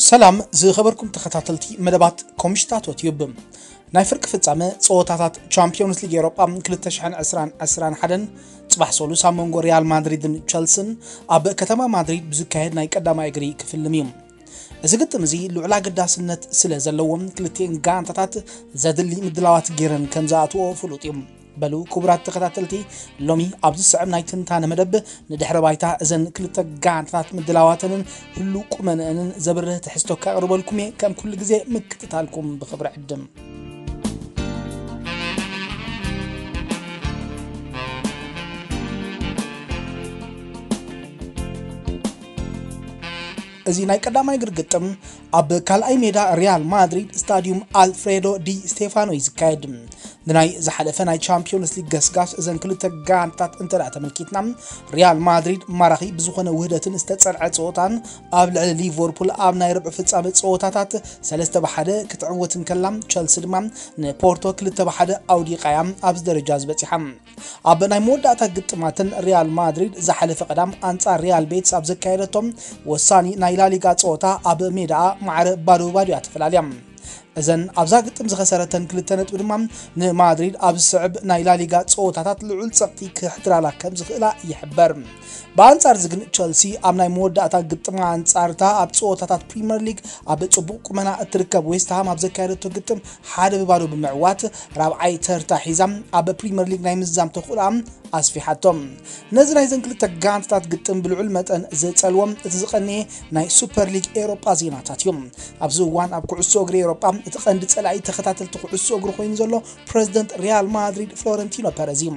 ሰላም ዝኸበርኩም ተኸታተልቲ መደባት ኮምሽታቶ ቲዩብ። ናይ ፍርቂ ፍጻመ ጸወታታት ቻምፒዮንስ ሊግ ኤውሮጳ ክልተ ሽሕን ዕስራን ዕስራን ሓደን ጽባሕ ሰሉስ ኣብ መንጎ ሪያል ማድሪድን ቸልስን ኣብ ከተማ ማድሪድ ብዝካየድ ናይ ቀዳማይ እግሪ ክፍልም እዩ። እዚ ግጥም እዚ ልዑል ኣገዳስነት ስለ ዘለዎም ክልቲኤን ጋንታታት ዘድሊ ምድላዋት ገይረን ከም ዝኣትዎ ፍሉጥ እዩ። በሉ ክቡራት ተኸታተልቲ፣ ሎሚ ኣብ ዝስዕብ ናይ ትንታነ መደብ ንድሕረ ባይታ እዘን ክልተ ጋንታታት ምድላዋተንን ህሉ ቁመንአንን ዘብርህ ትሕዝቶ ከቕርበልኩም እየ። ከም ኩሉ ግዜ ምክትታልኩም ብኽብሪ ዕድም። እዚ ናይ ቀዳማይ እግሪ ግጥም ኣብ ካልኣይ ሜዳ ሪያል ማድሪድ ስታዲዩም ኣልፍሬዶ ዲ ስቴፋኖ እዩ ዝካየድ። ንናይ ዝሓለፈ ናይ ቻምፒዮንስ ሊግ ገስጋስ እዘን ክልተ ጋንታት እንተ ደኣ ተመልኪትና፣ ሪያል ማድሪድ ማራኺ ብዝኾነ ውህደትን ዝተጸርዐ ጸወታን ኣብ ልዕሊ ሊቨርፑል ኣብ ናይ ርብዒ ፍጻመ ጸወታታት ሰለስተ ብሓደ ክትዕወት እንከላ፣ ቸልሲ ድማ ንፖርቶ ክልተ ብሓደ ኣውዲቓ እያ ኣብዚ ደረጃ ዝበጺሓ። ኣብ ናይ መወዳእታ ግጥማትን ሪያል ማድሪድ ዝሓለፈ ቀዳም ኣንጻር ሪያል ቤትስ ኣብ ዘካየደቶም ወሳኒ ናይ ላሊጋ ጸወታ ኣብ ሜዳኣ ማዕረ ባዶ ባዶ እያ ተፈላልያ። እዘን ኣብዛ ግጥም ዝኸሰረተን ክልተ ነጥቢ ድማ ንማድሪድ ኣብ ዝስዕብ ናይ ላሊጋ ጸወታታት ልዑል ጸቕጢ ክሕድራላ ከም ዝኽእላ ይሕበር። ብኣንጻር እዚ ግን ቸልሲ ኣብ ናይ መወዳእታ ግጥማ ኣንጻርታ ኣብ ጸወታታት ፕሪምየር ሊግ ኣብ ጽቡቕ ቁመና እትርከብ ዌስትሃም ኣብ ዘካየደቶ ግጥም ሓደ ብባዶ ብምዕዋት ራብዓይ ተርታ ሒዛ ኣብ ፕሪምየር ሊግ ናይ ምዝዛም ተኽእሎኣ ኣስፊሓቶ። ነዚ ናይዘን ክልተ ጋንታታት ግጥም ብልዑል መጠን ዝጸልዎ እቲ ዝቐነየ ናይ ሱፐር ሊግ ኤውሮጳ ዜናታት እዩ። ኣብዚ እዋን ኣብ ኩዕሶ እግሪ ኤውሮጳ እቲ ቀንዲ ጸላኢ ተኸታተልቲ ኩዕሶ እግሪ ኮይኑ ዘሎ ፕረዚደንት ሪያል ማድሪድ ፍሎረንቲኖ ፐረዝ እዩ።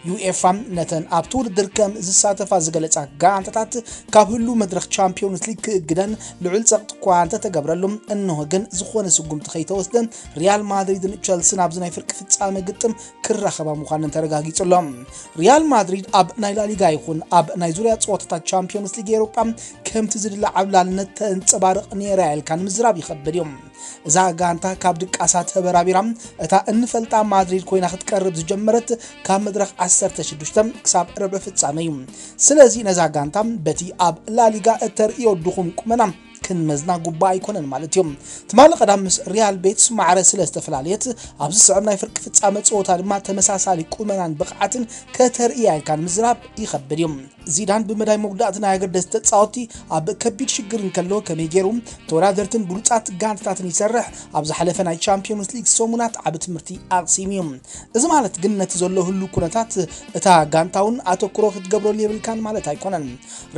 ዩኤፋ ነተን ኣብቲ ውድድር ከም ዝሳተፋ ዝገለጻ ጋንታታት ካብ ህሉ መድረኽ ቻምፒዮንስ ሊግ ክእግደን ልዑል ጸቕጢ እኳ እንተተገብረሉ፣ እንሆ ግን ዝኾነ ስጉምቲ ከይተወስደ ሪያል ማድሪድን ቸልስን ኣብዚ ናይ ፍርቂ ፍጻመ ግጥም ክራኸባ ምዃነን ተረጋጊጹ ኣሎ። ሪያል ማድሪድ ኣብ ናይ ላሊጋ ይኹን ኣብ ናይ ዙርያ ጸወታታት ቻምፒዮንስ ሊግ ኤውሮጳ ከምቲ ዝድለ ዓብላልነት ተንጸባርቕ ነይራ ኢልካ ንምዝራብ ይኸብድ እዩ። እዛ ጋንታ ካብ ድቃሳ ተበራቢራ እታ እንፈልጣ ማድሪድ ኮይና ክትቀርብ ዝጀመረት ካብ መድረኽ ዓሰርተ ሽዱሽተ ክሳብ ርብዒ ፍጻመ እዩ። ስለዚ ነዛ ጋንታ በቲ ኣብ ላሊጋ እተርእዮ ድኹም ቁመና ክንመዝና ጉባእ ኣይኮነን ማለት እዩ። ትማሊ ቀዳም ምስ ሪያል ቤትስ ማዕረ ስለ ዝተፈላለየት፣ ኣብዚ ዝስዕብ ናይ ፍርቂ ፍጻመ ጸወታ ድማ ተመሳሳሊ ቁመናን ብቕዓትን ከተርእያ ኢልካ ንምዝራብ ይኸብድ እዩ። ዚዳን ብመዳይ መጉዳእቲ ናይ ኣገደስቲ ተጻወትቲ ኣብ ከቢድ ሽግር እንከሎ ከመይ ገይሩ ተወዳደርትን ብሉጻት ጋንታታትን ይሰርሕ፣ ኣብ ዝሓለፈ ናይ ቻምፒዮንስ ሊግ ሰሙናት ዓቢ ትምህርቲ ኣቕሲሙ እዩ። እዚ ማለት ግን ነቲ ዘሎ ህሉ ኩነታት እታ ጋንታ እውን ኣተኩሮ ክትገብረሉ የብልካን ማለት ኣይኮነን።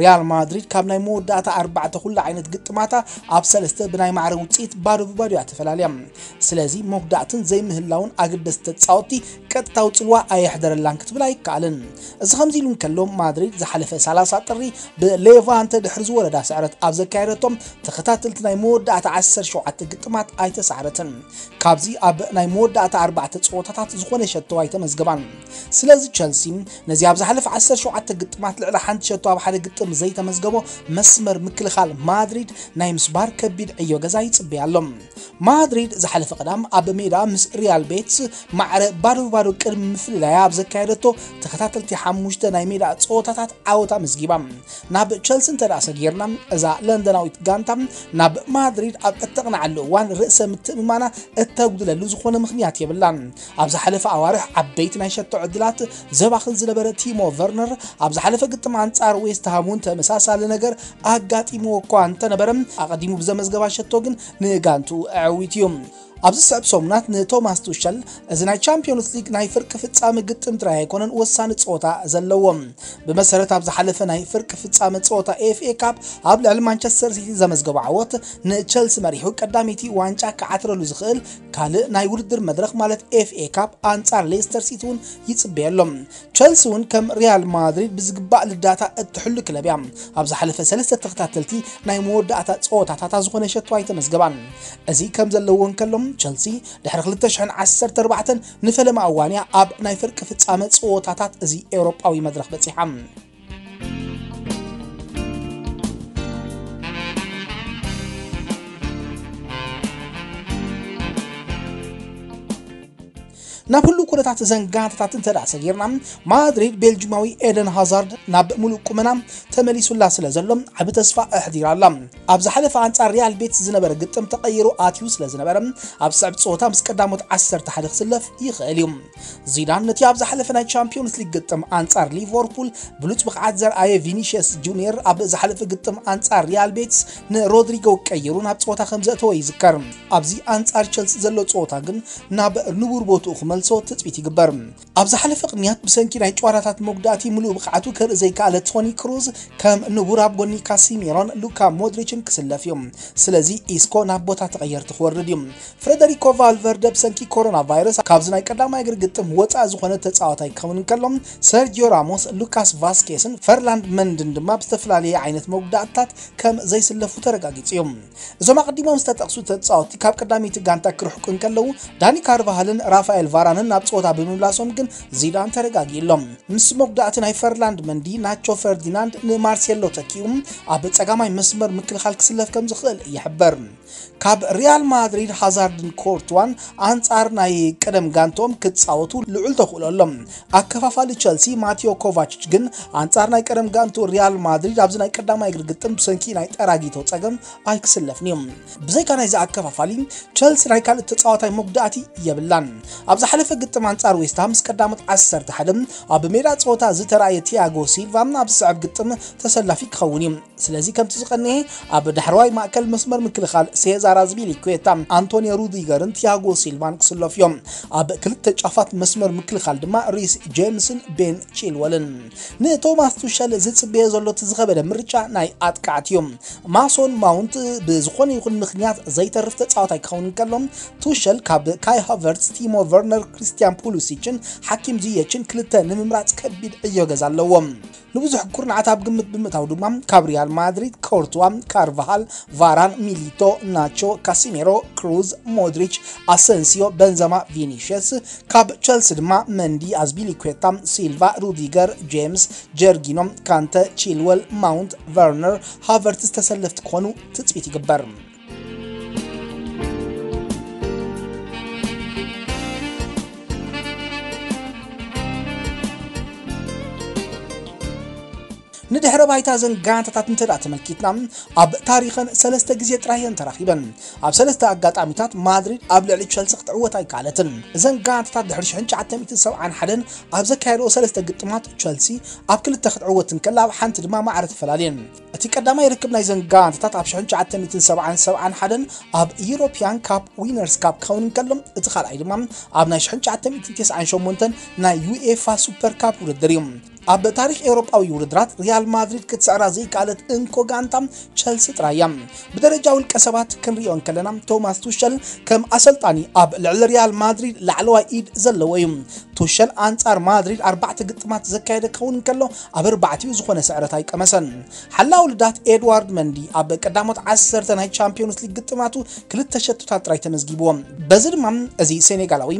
ሪያል ማድሪድ ካብ ናይ መወዳእታ ኣርባዕተ ኩሉ ዓይነት ግጥማታ ኣብ ሰለስተ ብናይ ማዕረ ውጽኢት ባዶ ብባዶ እያ ተፈላልያ። ስለዚ መጉዳእትን ዘይምህላውን ኣገደስቲ ተጻወትቲ ቀጥታዊ ጽልዋ ኣየሕደረላን ክትብል ኣይከኣልን። እዚ ከምዚ ኢሉ እንከሎ ማድሪድ ዝሓለፈ ሰላሳ ጥሪ ብሌቫንተ ድሕሪ ዝወረዳ ስዕረት ኣብ ዘካየደቶም ተኸታተልቲ ናይ መወዳእታ ዓሰርተ ሸውዓተ ግጥማት ኣይተሳዕረትን። ካብዚ ኣብ ናይ መወዳእታ ኣርባዕተ ጸወታታት ዝኾነ ሸቶ ኣይተመዝገባን። ስለዚ ቸልሲ ነዚ ኣብ ዝሓለፈ ዓሰርተ ሸውዓተ ግጥማት ልዕሊ ሓንቲ ሸቶ ኣብ ሓደ ግጥም ዘይተመዝገቦ መስመር ምክልኻል ማድሪድ ናይ ምስባር ከቢድ ዕዮ ገዛ ይጽበያ ኣሎ። ማድሪድ ዝሓለፈ ቀዳም ኣብ ሜዳ ምስ ሪያል ቤትስ ማዕረ ባዶ ብባዶ ቅድሚ ምፍልላያ ኣብ ዘካየደቶ ተኸታተልቲ ሓሙሽተ ናይ ሜዳ ጸወታታት ዓወታ መዝጊባ። ናብ ቸልሲ እንተ ደኣ ሰጊርና፣ እዛ ለንደናዊት ጋንታ ናብ ማድሪድ ኣብ እተቕንዓሉ እዋን ርእሰ ምትእምማና እተጉድለሉ ዝኾነ ምኽንያት የብላን። ኣብ ዝሓለፈ ኣዋርሕ ዓበይቲ ናይ ሸቶ ዕድላት ዘባኽን ዝነበረ ቲሞ ቨርነር ኣብ ዝሓለፈ ግጥም ኣንጻር ዌስትሃም እውን ተመሳሳሊ ነገር ኣጋጢምዎ እኳ እንተነበረ፣ ኣቐዲሙ ብዘመዝገባ ሸቶ ግን ንጋንቱ ኣዕዊቱ እዩ። ኣብዚ ዝስዕብ ሰሙናት ንቶማስ ቱሸል እዚ ናይ ቻምፒዮንስ ሊግ ናይ ፍርቂ ፍጻመ ግጥም ጥራይ ኣይኮነን ወሳኒ ጸወታ ዘለዎ። ብመሰረት ኣብ ዝሓለፈ ናይ ፍርቂ ፍጻመ ጸወታ ኤፍኤ ካፕ ኣብ ልዕሊ ማንቸስተር ሲቲ ዘመዝገቦ ዓወት ንቸልሲ መሪሑ ቀዳመይቲ ዋንጫ ክዓትረሉ ዝኽእል ካልእ ናይ ውድድር መድረኽ ማለት ኤፍኤ ካፕ ኣንጻር ሌስተር ሲቲ እውን ይጽበየሎም። ቸልሲ እውን ከም ሪያል ማድሪድ ብዝግባእ ልዳታ እትሕሉ ክለብ እያ። ኣብ ዝሓለፈ ሰለስተ ተኸታተልቲ ናይ መወዳእታ ጸወታታታ ዝኾነ ሸቶ ኣይተመዝገባን። እዚ ከም ዘለዎ እንከሎ ቸልሲ ድሕሪ ክልተ ሽሕን ዓሰርተ ኣርባዕተን ንፈለማ እዋን እያ ኣብ ናይ ፍርቂ ፍጻመ ጸወታታት እዚ ኤውሮጳዊ መድረኽ በጺሓ። ናብ ህሉው ኩነታት እዘን ጋንታታት እንተ ደኣ ሰጊርና፣ ማድሪድ ቤልጂማዊ ኤደን ሃዛርድ ናብ ምሉእ ቁመና ተመሊሱላ ስለ ዘሎ ዓቢ ተስፋ ኣሕዲራ ኣላ። ኣብ ዝሓለፈ ኣንጻር ሪያል ቤትስ ዝነበረ ግጥም ተቐይሩ ኣትዩ ስለ ዝነበረ፣ ኣብ ስዕብ ጸወታ ምስ ቀዳሞት ዓሰርተ ሓደ ክስለፍ ይኽእል እዩ። ዚዳን ነቲ ኣብ ዝሓለፈ ናይ ቻምፒዮንስ ሊግ ግጥም ኣንጻር ሊቨርፑል ብሉጽ ብቕዓት ዘርኣየ ቪኒሽየስ ጁኒየር ኣብ ዝሓለፈ ግጥም ኣንጻር ሪያል ቤትስ ንሮድሪጎ ቀይሩ ናብ ጸወታ ከም ዘእተወ ይዝከር። ኣብዚ ኣንጻር ቸልሲ ዘሎ ጸወታ ግን ናብ ንቡር ቦትኡ ክመልሶ ትጽቢት ይግበር። ኣብ ዝሓለፈ ቅንያት ብሰንኪ ናይ ጨዋታታት መጉዳእቲ ምሉእ ብቕዓቱ ከርኢ ዘይከኣለ ቶኒ ክሩዝ ከም ንቡር ኣብ ጎኒ ካሲሜሮን ሉካ ሞድሪችን ክስለፍ እዩ። ስለዚ ኢስኮ ናብ ቦታ ተቐየርቲ ክወርድ እዩ። ፍሬደሪኮ ቫልቨርደ ብሰንኪ ኮሮና ቫይረስ ካብዚ ናይ ቀዳማይ እግሪ ግጥም ወጻኢ ዝኾነ ተጻዋታይ ክኸውን እንከሎ፣ ሰርጂዮ ራሞስ፣ ሉካስ ቫስኬስን ፈርላንድ መንድን ድማ ብዝተፈላለየ ዓይነት መጉዳእትታት ከም ዘይስለፉ ተረጋጊጹ እዩ። እዞም ኣቐዲሞም ዝተጠቕሱ ተጻወትቲ ካብ ቀዳመይቲ ጋንታ ክርሕቁ እንከለዉ፣ ዳኒ ካርቫሃልን ራፋኤል ቫራንን ናብ ጸወታ ብምምላሶም ግን ዚዳን ተረጋጊእሎም። ምስ መጉዳእቲ ናይ ፈርላንድ መንዲ፣ ናቾ ፈርዲናንድ ንማርሴሎ ተኪኡ ኣብ ጸጋማይ መስመር ምክልኻል ክስለፍ ከም ዝኽእል ይሕበር። ካብ ሪያል ማድሪድ ሃዛርድን ኮርትዋን ኣንጻር ናይ ቀደም ጋንቶም ክጻወቱ ልዑል ተኽእሎ ኣሎ። ኣከፋፋሊ ቸልሲ ማቴዮ ኮቫችች ግን ኣንጻር ናይ ቀደም ጋንቱ ሪያል ማድሪድ ኣብዚ ናይ ቀዳማይ እግሪ ግጥም ብሰንኪ ናይ ጠራጊቶ ጸገም ኣይክስለፍን እዩ። ብዘይካ ናይዚ ኣከፋፋሊ፣ ቸልሲ ናይ ካልእ ተጻዋታይ መጉዳእቲ የብላን። ኣብ ዝሓለፈ ግጥም ኣንጻር ዌስትሃም ምስ ቀዳሞት ዓሰርተ ሓደ ኣብ ሜዳ ጸወታ ዝተራእየ ቲያጎ ሲልቫ ኣብ ዝስዕብ ግጥም ተሰላፊ ክኸውን እዩ። ስለዚ ከምቲ ዝቐንኤ ኣብ ዳሕረዋይ ማእከል መስመር ምክልኻል ሴዛር ኣዝፒሊኩዌታ፣ ኣንቶኒዮ ሩዲገርን ቲያጎ ሲልቫን ክስለፉ እዮም። ኣብ ክልተ ጫፋት መስመር ምክልኻል ድማ ሪስ ጄምስን ቤን ቺልወልን። ንቶማስ ቱሸል ዝጽበዮ ዘሎ እቲ ዝኸበደ ምርጫ ናይ ኣጥቃዕቲ እዩ። ማሶን ማውንት ብዝኾነ ይኹን ምኽንያት ዘይተርፍ ተጻዋታይ ክኸውን እንከሎ፣ ቱሸል ካብ ካይ ሃቨርትስ፣ ቲሞ ቨርነር፣ ክሪስቲያን ፑሊሲችን ሓኪም ዚየችን ክልተ ንምምራጽ ከቢድ ዕዮ ገዛ ኣለዎ። ንብዙሕ ኩርናዓት ኣብ ግምት ብምእታው ድማ ካብ ሪያል ማድሪድ ኮርትዋ፣ ካርቫሃል፣ ቫራን፣ ሚሊቶ፣ ናቾ፣ ካሲሜሮ፣ ክሩዝ፣ ሞድሪች፣ ኣሰንሲዮ፣ በንዘማ፣ ቪኒሽየስ፣ ካብ ቸልሲ ድማ መንዲ፣ ኣዝፒሊኩዌታ፣ ሲልቫ፣ ሩዲገር፣ ጄምስ፣ ጀርጊኖ፣ ካንተ፣ ቺልወል፣ ማውንት፣ ቨርነር፣ ሃቨርትስ ተሰለፍቲ ክኾኑ ትጽቢት ይግበር። ንድሕረ ባይታ እዘን ጋንታታት እንተ ደኣ ተመልኪትና፣ ኣብ ታሪኸን ሰለስተ ግዜ ጥራይ እየን ተራኺበን። ኣብ ሰለስተ ኣጋጣሚታት ማድሪድ ኣብ ልዕሊ ቸልሲ ክትዕወት ኣይከኣለትን። እዘን ጋንታታት ድሕሪ ሽሕን ትሽዓተ ሚእትን ሰብዓን ሓደን ኣብ ዘካየድኦ ሰለስተ ግጥማት ቸልሲ ኣብ ክልተ ክትዕወት እንከላ ኣብ ሓንቲ ድማ ማዕረ ተፈላልየን። እቲ ቀዳማይ ርክብ ናይዘን ጋንታታት ኣብ ሽሕን ትሽዓተ ሚእትን ሰብዓን ሰብዓን ሓደን ኣብ ዩሮፒያን ካፕ ዊነርስ ካፕ ክኸውን እንከሎ፣ እቲ ካልኣይ ድማ ኣብ ናይ ሽሕን ትሽዓተ ሚእትን ተስዓን ሸሞንተን ናይ ዩኤፋ ሱፐር ካፕ ውድድር እዩ። ኣብ ታሪኽ ኤውሮጳዊ ውድድራት ሪያል ማድሪድ ክትስዕራ ዘይከኣለት እንኮ ጋንታ ቸልሲ ጥራይ እያ። ብደረጃ ውልቀ ሰባት ክንሪኦ እንከለና፣ ቶማስ ቱሸል ከም ኣሰልጣኒ ኣብ ልዕሊ ሪያል ማድሪድ ላዕለዋይ ኢድ ዘለዎ እዩ። ቱሸል ኣንጻር ማድሪድ ኣርባዕተ ግጥማት ዘካየደ ክኸውን እንከሎ፣ ኣብ ኣርባዕቲኡ ዝኾነ ስዕረት ኣይቀመሰን። ሓላው ልዳት ኤድዋርድ መንዲ ኣብ ቀዳሞት ዓሰርተ ናይ ቻምፒዮንስ ሊግ ግጥማቱ ክልተ ሸቶታት ጥራይ ተመዝጊብዎ። በዚ ድማ እዚ ሴኔጋላዊ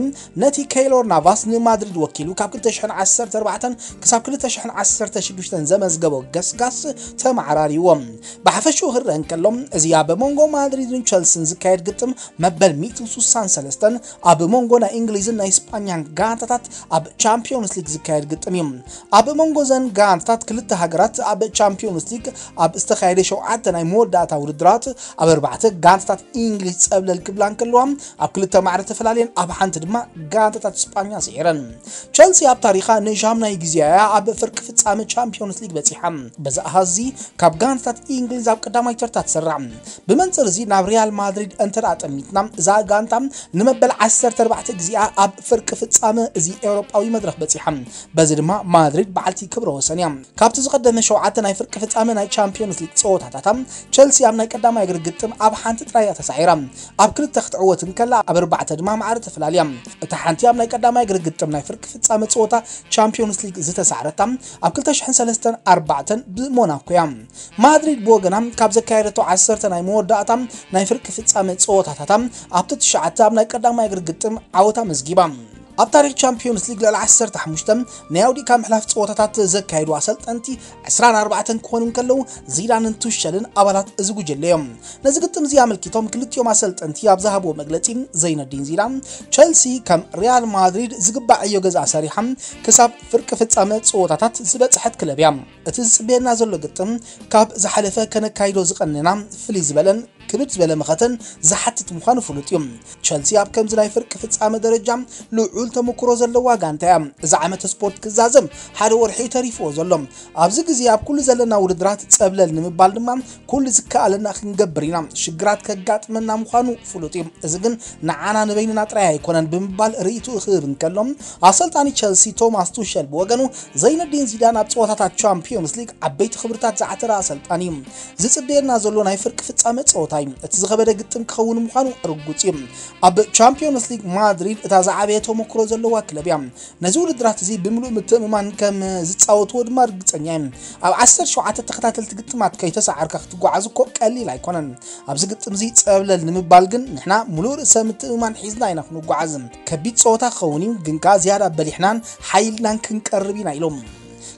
ነቲ ኬይሎር ናቫስ ንማድሪድ ወኪሉ ካብ ክልተ ሽሕን ዓሰርተ ኣርባዕተን ክሳብ ክልተ ሽሕን ዓሰርተ ሽዱሽተን ዘመዝገቦ ገስጋስ ተመዓራሪዎ። ብሓፈሽኡ ክረአ እንከሎ፣ እዚ ኣብ መንጎ ማድሪድን ቸልሲን ዝካየድ ግጥም መበል ሚእትን ስሳን ሰለስተን ኣብ መንጎ ናይ እንግሊዝን ናይ ስጳኛን ጋንታታት ኣብ ቻምፒዮንስ ሊግ ዝካየድ ግጥም እዩ። ኣብ መንጎ ዘን ጋንታታት ክልተ ሃገራት ኣብ ቻምፒዮንስ ሊግ ኣብ ዝተኻየደ ሸውዓተ ናይ መወዳእታ ውድድራት ኣብ ኣርባዕተ ጋንታታት እንግሊዝ ጸብለል ክብላ እንከለዋ፣ ኣብ ክልተ ማዕረ ተፈላልየን ኣብ ሓንቲ ድማ ጋንታታት ስጳኛ ስዒረን። ቸልሲ ኣብ ታሪኻ ንሻምናይ ግዜያ ኣብ ፍርቂ ፍጻመ ቻምፒዮንስ ሊግ በጺሓ። በዚ ኣሃዚ ካብ ጋንታታት እንግሊዝ ኣብ ቀዳማይ ተርታ ትስራዕ። ብመንጽር እዚ ናብ ሪያል ማድሪድ እንተ ደኣ ጠሚትና፣ እዛ ጋንታ ንመበል ዓሰርተ ኣርባዕተ ግዜኣ ኣብ ፍርቂ ፍጻመ እዚ ኤውሮጳዊ መድረኽ በጺሓ። በዚ ድማ ማድሪድ በዓልቲ ክብረ ወሰን እያ። ካብቲ ዝቐደመ ሸውዓተ ናይ ፍርቂ ፍጻመ ናይ ቻምፒዮንስ ሊግ ጸወታታታ፣ ቸልሲ ኣብ ናይ ቀዳማይ እግሪ ግጥም ኣብ ሓንቲ ጥራይ እያ ተሳዒራ። ኣብ ክልተ ክትዕወት እንከላ፣ ኣብ ኣርባዕተ ድማ ማዕረ ተፈላልያ። እታ ሓንቲ ኣብ ናይ ቀዳማይ እግሪ ግጥም ናይ ፍርቂ ፍጻመ ጸወታ ቻምፒዮንስ ሊግ ዝተሳዕረታ፣ ኣብ ክልተ ሽሕን ሰለስተን ኣርባዕተን ብሞናኮ እያ። ማድሪድ ብወገና ካብ ዘካየደቶ ዓሰርተ ናይ መወዳእታ ናይ ፍርቂ ፍጻመ ጸወታታታ ኣብቲ ትሽዓተ ኣብ ናይ ቀዳማይ እግሪ ግጥም ዓወታ መዝጊባ። ኣብ ታሪኽ ቻምፒዮንስ ሊግ ልዕሊ ዓሰርተ ሓሙሽተ ናይ ኣውዲእካ ምሕላፍ ጸወታታት ዘካየዱ ኣሰልጠንቲ ዕስራን ኣርባዕተን ክኾኑ እንከለዉ፣ ዚዳንን ቱሸልን ኣባላት እዚ ጉጅለ እዮም። ነዚ ግጥም እዚ ኣመልኪቶም ክልቲኦም ኣሰልጠንቲ ኣብ ዝሃብዎ መግለጺ፣ ዘይነዲን ዚዳን፣ ቸልሲ ከም ሪያል ማድሪድ ዝግባእ ዕዮ ገዛ ሰሪሓ ክሳብ ፍርቂ ፍጻመ ጸወታታት ዝበጽሐት ክለብ እያ። እቲ ዝጽበየና ዘሎ ግጥም ካብ ዝሓለፈ ከነካይዶ ዝቐነና ፍልይ ዝበለን ክብድ ዝበለ መኸተን ዝሓትት ምዃኑ ፍሉጥ እዩ። ቸልሲ ኣብ ከምዚ ናይ ፍርቂ ፍጻመ ደረጃ ልዑል ተመክሮ ዘለዋ ጋንታ እያ። እዚ ዓመተ ስፖርት ክዛዘም ሓደ ወርሒ ተሪፍዎ ዘሎ። ኣብዚ ግዜ ኣብ ኩሉ ዘለና ውድድራት ጸብለል ንምባል ድማ ኩሉ ዝከኣለና ክንገብር ኢና። ሽግራት ከጋጥመና ምዃኑ ፍሉጥ እዩ። እዚ ግን ንዓና ንበይንና ጥራይ ኣይኮነን ብምባል ርእይትኡ ክህብ እንከሎ፣ ኣሰልጣኒ ቸልሲ ቶማስ ቱሸል ብወገኑ፣ ዘይነዲን ዚዳን ኣብ ጸወታታት ቻምፒዮንስ ሊግ ዓበይቲ ክብርታት ዝዓተረ ኣሰልጣኒ እዩ። ዝጽበየና ዘሎ ናይ ፍርቂ ፍጻመ ጸወታ እዩ። እቲ ዝኸበደ ግጥም ክኸውን ምዃኑ ርጉጽ እዩ። ኣብ ቻምፒዮንስ ሊግ ማድሪድ እታ ዝዓበየ ተመክሮ ዘለዋ ክለብ እያ። ነዚ ውድድራት እዚ ብምሉእ ምትእምማን ከም ዝጻወትዎ ድማ ርግጸኛ እየ። ኣብ ዓሰርተ ሸውዓተ ተኸታተልቲ ግጥማት ከይተሰዓርካ ክትጓዓዝ እኮ ቀሊል ኣይኮነን። ኣብዚ ግጥም እዚ ጸብለል ንምባል ግን ንሕና ምሉእ ርእሰ ምትእምማን ሒዝና ኢና ክንጓዓዝ። ከቢድ ጸወታ ክኸውን እዩ፣ ግን ከኣ ዝያዳ በሊሕናን ሓይልናን ክንቀርብ ኢና ኢሎም።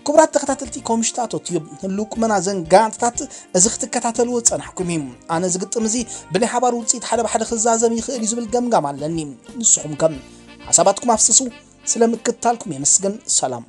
ክቡራት ተኸታተልቲ ኮምሽታቶ ቲዩብ፣ ህልው ቁመና ዘን ጋንታታት እዚ ክትከታተልዎ ዝጸናሕኩም እዩ። ኣነ እዚ ግጥም እዚ ብናይ ሓባር ውጽኢት ሓደ ብሓደ ክዛዘም ይኽእል እዩ ዝብል ገምጋም ኣለኒ። ንስኹም ከ ሓሳባትኩም ኣፍስሱ። ስለ ምክትታልኩም የመስግን። ሰላም።